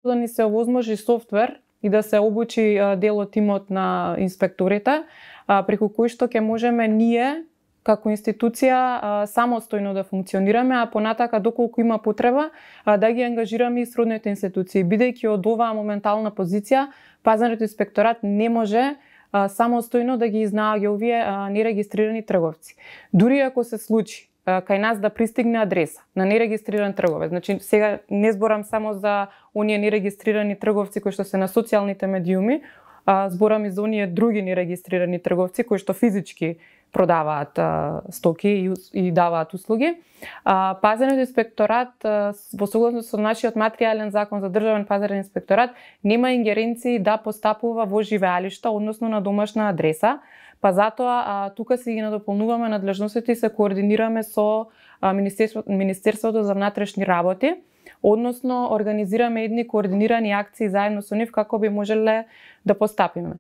да ни се овозможи софтвер и да се обучи дел од тимот на инспекторите, преку кој што ќе можеме ние како институција самостојно да функционираме, а понатака доколку има потреба да ги ангажираме и сродните институции. Бидејќи од оваа моментална позиција, пазарниот инспекторат не може самостојно да ги изнаоѓа овие нерегистрирани трговци. Дури ако се случи кај нас да пристигне адреса на нерегистриран трговец, значи сега не зборам само за оние нерегистрирани трговци кои што се на социјалните медиуми, зборам и за оние други нерегистрирани трговци кои што физички продаваат стоки и даваат услуги. Пазарниот инспекторат во согласност со нашиот материјален закон за државен пазарен инспекторат нема ингеренции да постапува во живеалишта, односно на домашна адреса, па затоа тука си ги надополнуваме надлежностите и се координираме со Министерството за внатрешни работи, односно организираме едни координирани акции заедно со нив како би можеле да постапиме.